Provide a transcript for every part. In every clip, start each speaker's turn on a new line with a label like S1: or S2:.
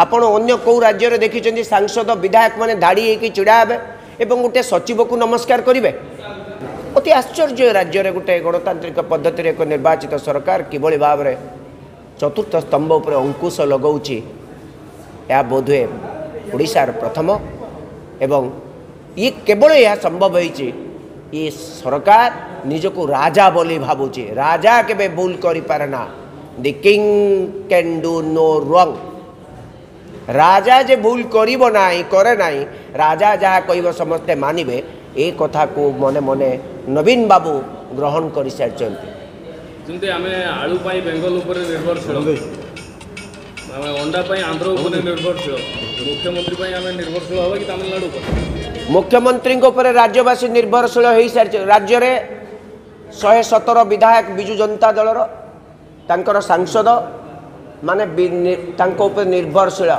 S1: ଆପଣ ଅନ୍ୟ କେଉଁ ରାଜ୍ୟରେ ଦେଖିଛନ୍ତି ସାଂସଦ ବିଧାୟକମାନେ ଧାଡ଼ି ହେଇକି ଛିଡ଼ା ହେବେ ଏବଂ ଗୋଟେ ସଚିବକୁ ନମସ୍କାର କରିବେ? ଅତି ଆଶ୍ଚର୍ଯ୍ୟ, ରାଜ୍ୟରେ ଗୋଟେ ଗଣତାନ୍ତ୍ରିକ ପଦ୍ଧତିରେ ଏକ ନିର୍ବାଚିତ ସରକାର କିଭଳି ଭାବରେ ଚତୁର୍ଥ ସ୍ତମ୍ଭ ଉପରେ ଅଙ୍କୁଶ ଲଗାଉଛି, ଏହା ବୋଧହୁଏ ଓଡ଼ିଶାର ପ୍ରଥମ। ଏବଂ ଇଏ କେବଳ ଏହା ସମ୍ଭବ ହେଇଛି, ଇଏ ସରକାର ନିଜକୁ ରାଜା ବୋଲି ଭାବୁଛି। ରାଜା କେବେ ଭୁଲ କରିପାରେ ନା। The king can do no wrong. ରାଜା ଯେ ଭୁଲ କରିବ ନାହିଁ, କରେ ନାହିଁ, ରାଜା ଯାହା କହିବ ସମସ୍ତେ ମାନିବେ, ଏ କଥାକୁ ମନେ ମନେ ନବୀନ ବାବୁ ଗ୍ରହଣ କରିସାରିଛନ୍ତି।
S2: ଯେମିତି ଆମେ ଆଳୁ ପାଇଁ ବେଙ୍ଗଲ ଉପରେ ନିର୍ଭରଶୀଳ, ଆମେ ଅଣ୍ଡା ପାଇଁ ଆନ୍ଧ୍ର ଉପରେ ନିର୍ଭରଶୀଳ, ମୁଖ୍ୟମନ୍ତ୍ରୀ ପାଇଁ ଆମେ ନିର୍ଭରଶୀଳ ହେବା କି ତାମିଲନାଡୁ ଉପରେ?
S1: ମୁଖ୍ୟମନ୍ତ୍ରୀଙ୍କ ଉପରେ ରାଜ୍ୟବାସୀ ନିର୍ଭରଶୀଳ ହୋଇସାରିছে। ରାଜ୍ୟରେ 117 ବିଧାୟକ ବିଜୁ ଜନତା ଦଳର, ତାଙ୍କର ସାଂସଦ ମାନେ ତାଙ୍କ ଉପରେ ନିର୍ଭରଶୀଳ।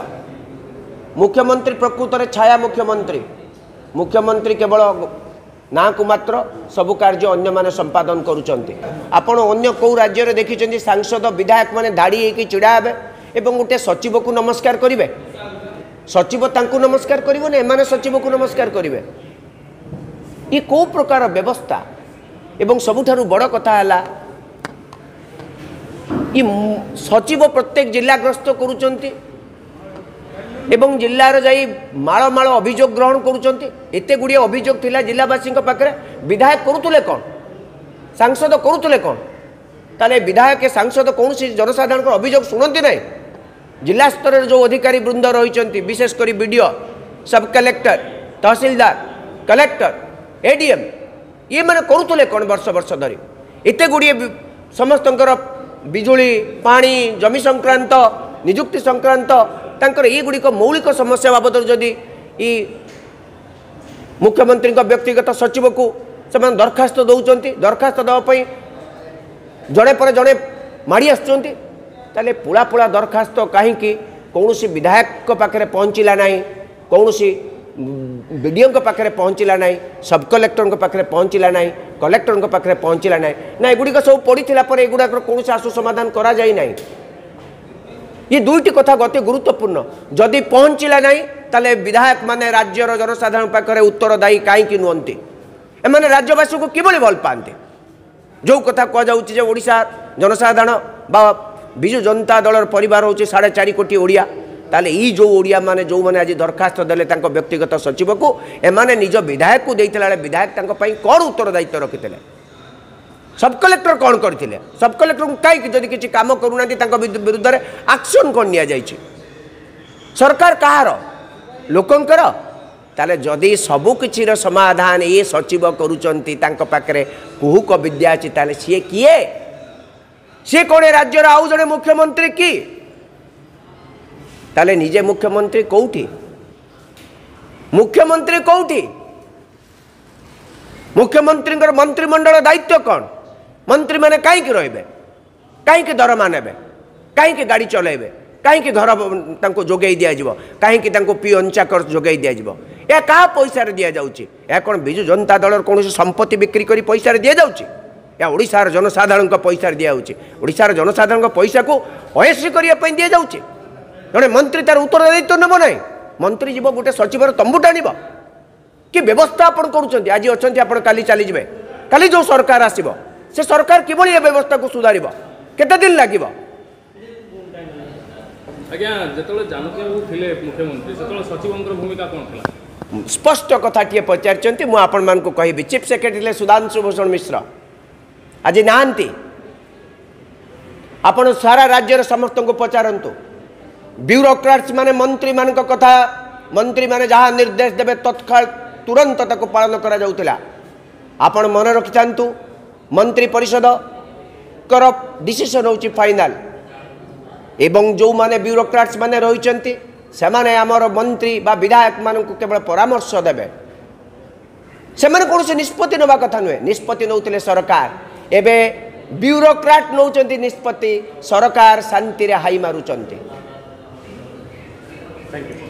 S1: ମୁଖ୍ୟମନ୍ତ୍ରୀ ପ୍ରକୃତରେ ଛାୟା ମୁଖ୍ୟମନ୍ତ୍ରୀ। ମୁଖ୍ୟମନ୍ତ୍ରୀ କେବଳ ନାଁକୁ ମାତ୍ର, ସବୁ କାର୍ଯ୍ୟ ଅନ୍ୟମାନେ ସମ୍ପାଦନ କରୁଛନ୍ତି। ଆପଣ ଅନ୍ୟ କେଉଁ ରାଜ୍ୟରେ ଦେଖିଛନ୍ତି ସାଂସଦ ବିଧାୟକମାନେ ଧାଡ଼ି ହେଇକି ଛିଡ଼ା ହେବେ ଏବଂ ଗୋଟେ ସଚିବକୁ ନମସ୍କାର କରିବେ? ସଚିବ ତାଙ୍କୁ ନମସ୍କାର କରିବନି, ଏମାନେ ସଚିବକୁ ନମସ୍କାର କରିବେ। ଇଏ କେଉଁ ପ୍ରକାର ବ୍ୟବସ୍ଥା? ଏବଂ ସବୁଠାରୁ ବଡ଼ କଥା ହେଲା, ଇ ସଚିବ ପ୍ରତ୍ୟେକ ଜିଲ୍ଲା ଗ୍ରସ୍ତ କରୁଛନ୍ତି ଏବଂ ଜିଲ୍ଲାର ଯାଇ ମାଳ ମାଳ ଅଭିଯୋଗ ଗ୍ରହଣ କରୁଛନ୍ତି। ଏତେ ଗୁଡ଼ିଏ ଅଭିଯୋଗ ଥିଲା ଜିଲ୍ଲାବାସୀଙ୍କ ପାଖରେ, ବିଧାୟକ କରୁଥିଲେ କ'ଣ, ସାଂସଦ କରୁଥିଲେ କ'ଣ? ତାହେଲେ ବିଧାୟକ ସାଂସଦ କୌଣସି ଜନସାଧାରଣଙ୍କର ଅଭିଯୋଗ ଶୁଣନ୍ତି ନାହିଁ? ଜିଲ୍ଲା ସ୍ତରରେ ଯେଉଁ ଅଧିକାରୀ ବୃନ୍ଦ ରହିଛନ୍ତି, ବିଶେଷ କରି ବିଡ଼ିଓ, ସବ୍ କଲେକ୍ଟର, ତହସିଲଦାର, କଲେକ୍ଟର, ଏଡିଏମ୍, ଇଏମାନେ କରୁଥିଲେ କ'ଣ ବର୍ଷ ବର୍ଷ ଧରି? ଏତେ ଗୁଡ଼ିଏ ସମସ୍ତଙ୍କର ବିଜୁଳି, ପାଣି, ଜମି ସଂକ୍ରାନ୍ତ, ନିଯୁକ୍ତି ସଂକ୍ରାନ୍ତ ତାଙ୍କର ଏଇଗୁଡ଼ିକ ମୌଳିକ ସମସ୍ୟା ବାବଦରେ ଯଦି ଇ ମୁଖ୍ୟମନ୍ତ୍ରୀଙ୍କ ବ୍ୟକ୍ତିଗତ ସଚିବକୁ ସେମାନେ ଦରଖାସ୍ତ ଦେଉଛନ୍ତି, ଦରଖାସ୍ତ ଦେବା ପାଇଁ ଜଣେ ପରେ ଜଣେ ମାଡ଼ି ଆସୁଛନ୍ତି, ତାହେଲେ ପୁଳା ପୁଳା ଦରଖାସ୍ତ କାହିଁକି କୌଣସି ବିଧାୟକଙ୍କ ପାଖରେ ପହଞ୍ଚିଲା ନାହିଁ, କୌଣସି ବିଡ଼ିଓଙ୍କ ପାଖରେ ପହଞ୍ଚିଲା ନାହିଁ, ସବ୍ କଲେକ୍ଟରଙ୍କ ପାଖରେ ପହଞ୍ଚିଲା ନାହିଁ, କଲେକ୍ଟରଙ୍କ ପାଖରେ ପହଞ୍ଚିଲା ନାହିଁ? ନା ଏଗୁଡ଼ିକ ସବୁ ପଡ଼ିଥିଲା ପରେ ଏଗୁଡ଼ାକର କୌଣସି ଆଶୁ ସମାଧାନ କରାଯାଇ ନାହିଁ? ଇଏ ଦୁଇଟି କଥା ଅତି ଗୁରୁତ୍ୱପୂର୍ଣ୍ଣ। ଯଦି ପହଞ୍ଚିଲା ନାହିଁ, ତାହେଲେ ବିଧାୟକମାନେ ରାଜ୍ୟର ଜନସାଧାରଣ ପାଖରେ ଉତ୍ତରଦାୟୀ କାହିଁକି ନୁହନ୍ତି? ଏମାନେ ରାଜ୍ୟବାସୀଙ୍କୁ କିଭଳି ଭଲ ପାଆନ୍ତି? ଯେଉଁ କଥା କୁହାଯାଉଛି ଯେ ଓଡ଼ିଶା ଜନସାଧାରଣ ବା ବିଜୁ ଜନତା ଦଳର ପରିବାର ହେଉଛି 4.5 କୋଟି ଓଡ଼ିଆ, ତାହେଲେ ଏଇ ଯେଉଁ ଓଡ଼ିଆମାନେ ଯେଉଁମାନେ ଆଜି ଦରଖାସ୍ତ ଦେଲେ ତାଙ୍କ ବ୍ୟକ୍ତିଗତ ସଚିବକୁ, ଏମାନେ ନିଜ ବିଧାୟକକୁ ଦେଇଥିଲା ବେଳେ ବିଧାୟକ ତାଙ୍କ ପାଇଁ କ'ଣ ଉତ୍ତରଦାୟିତ୍ୱ ରଖିଥିଲେ? ସବ୍ କଲେକ୍ଟର କ'ଣ କରିଥିଲେ? ସବ୍ କଲେକ୍ଟରଙ୍କୁ କାହିଁକି ଯଦି କିଛି କାମ କରୁନାହାନ୍ତି ତାଙ୍କ ବିରୁଦ୍ଧରେ ଆକ୍ସନ୍ କ'ଣ ନିଆଯାଇଛି? ସରକାର କାହାର? ଲୋକଙ୍କର। ତାହେଲେ ଯଦି ସବୁକିଛିର ସମାଧାନ ଏ ସଚିବ କରୁଛନ୍ତି, ତାଙ୍କ ପାଖରେ କୁହୁକ ବିଦ୍ୟା ଅଛି, ତାହେଲେ ସିଏ କିଏ? ସିଏ କ'ଣ ଏ ରାଜ୍ୟର ଆଉ ଜଣେ ମୁଖ୍ୟମନ୍ତ୍ରୀ କି? ତାହେଲେ ନିଜେ ମୁଖ୍ୟମନ୍ତ୍ରୀ କେଉଁଠି? ମୁଖ୍ୟମନ୍ତ୍ରୀ କେଉଁଠି? ମୁଖ୍ୟମନ୍ତ୍ରୀଙ୍କର ମନ୍ତ୍ରିମଣ୍ଡଳ ଦାୟିତ୍ୱ କ'ଣ? ମନ୍ତ୍ରୀମାନେ କାହିଁକି ରହିବେ? କାହିଁକି ଦରମା ନେବେ? କାହିଁକି ଗାଡ଼ି ଚଲାଇବେ? କାହିଁକି ଘର ତାଙ୍କୁ ଯୋଗାଇ ଦିଆଯିବ? କାହିଁକି ତାଙ୍କୁ ପିଅନ ଚାକର ଯୋଗାଇ ଦିଆଯିବ? ଏହା କାହା ପଇସାରେ ଦିଆଯାଉଛି? ଏହା କ'ଣ ବିଜୁ ଜନତା ଦଳର କୌଣସି ସମ୍ପତ୍ତି ବିକ୍ରି କରି ପଇସାରେ ଦିଆଯାଉଛି? ଏହା ଓଡ଼ିଶାର ଜନସାଧାରଣଙ୍କ ପଇସାରେ ଦିଆଯାଉଛି। ଓଡ଼ିଶାର ଜନସାଧାରଣଙ୍କ ପଇସାକୁ ଅଏସି କରିବା ପାଇଁ ଦିଆଯାଉଛି। ଜଣେ ମନ୍ତ୍ରୀ ତାର ଉତ୍ତରଦାୟିତ୍ୱ ନେବ ନାହିଁ? ମନ୍ତ୍ରୀ ଯିବ ଗୋଟେ ସଚିବର ତମ୍ବୁ ଟାଣିବ? କି ବ୍ୟବସ୍ଥା ଆପଣ କରୁଛନ୍ତି? ଆଜି ଅଛନ୍ତି ଆପଣ, କାଲି ଚାଲିଯିବେ। କାଲି ଯେଉଁ ସରକାର ଆସିବ, ସେ ସରକାର କିଭଳି ଏ ବ୍ୟବସ୍ଥାକୁ ସୁଧାରିବ? କେତେ ଦିନ ଲାଗିବ?
S2: ଆଜ୍ଞା, ଯେତେବେଳେ ଜାନକୀ ବାବୁ ଥିଲେ ମୁଖ୍ୟମନ୍ତ୍ରୀ, ସେତେବେଳେ ସଚିବଙ୍କର ଭୂମିକା କ'ଣ ଥିଲା?
S1: ସ୍ପଷ୍ଟ କଥାଟିଏ ପଚାରିଛନ୍ତି, ମୁଁ ଆପଣମାନଙ୍କୁ କହିବି। ଚିଫ୍ ସେକ୍ରେଟାରୀ ଥିଲେ ସୁଧାଂଶୁ ଭୂଷଣ ମିଶ୍ର, ଆଜି ନାହାନ୍ତି। ଆପଣ ସାରା ରାଜ୍ୟରେ ସମସ୍ତଙ୍କୁ ପଚାରନ୍ତୁ, ବ୍ୟୁରୋକ୍ରାଟ୍ସ ମାନେ ମନ୍ତ୍ରୀମାନଙ୍କ କଥା, ମନ୍ତ୍ରୀମାନେ ଯାହା ନିର୍ଦ୍ଦେଶ ଦେବେ ତତ୍କାଳ ତୁରନ୍ତ ତାକୁ ପାଳନ କରାଯାଉଥିଲା। ଆପଣ ମନେ ରଖିଥାନ୍ତୁ, ମନ୍ତ୍ରୀ ପରିଷଦଙ୍କର ଡିସିସନ୍ ହେଉଛି ଫାଇନାଲ୍, ଏବଂ ଯେଉଁମାନେ ବ୍ୟୁରୋକ୍ରାଟ୍ସ ମାନେ ରହିଛନ୍ତି ସେମାନେ ଆମର ମନ୍ତ୍ରୀ ବା ବିଧାୟକମାନଙ୍କୁ କେବଳ ପରାମର୍ଶ ଦେବେ। ସେମାନେ କୌଣସି ନିଷ୍ପତ୍ତି ନେବା କଥା ନୁହେଁ, ନିଷ୍ପତ୍ତି ନେଉଥିଲେ ସରକାର। ଏବେ ବ୍ୟୁରୋକ୍ରାଟ୍ ନେଉଛନ୍ତି ନିଷ୍ପତ୍ତି, ସରକାର ଶାନ୍ତିରେ ହାଇ ମାରୁଛନ୍ତି।
S2: Thank you.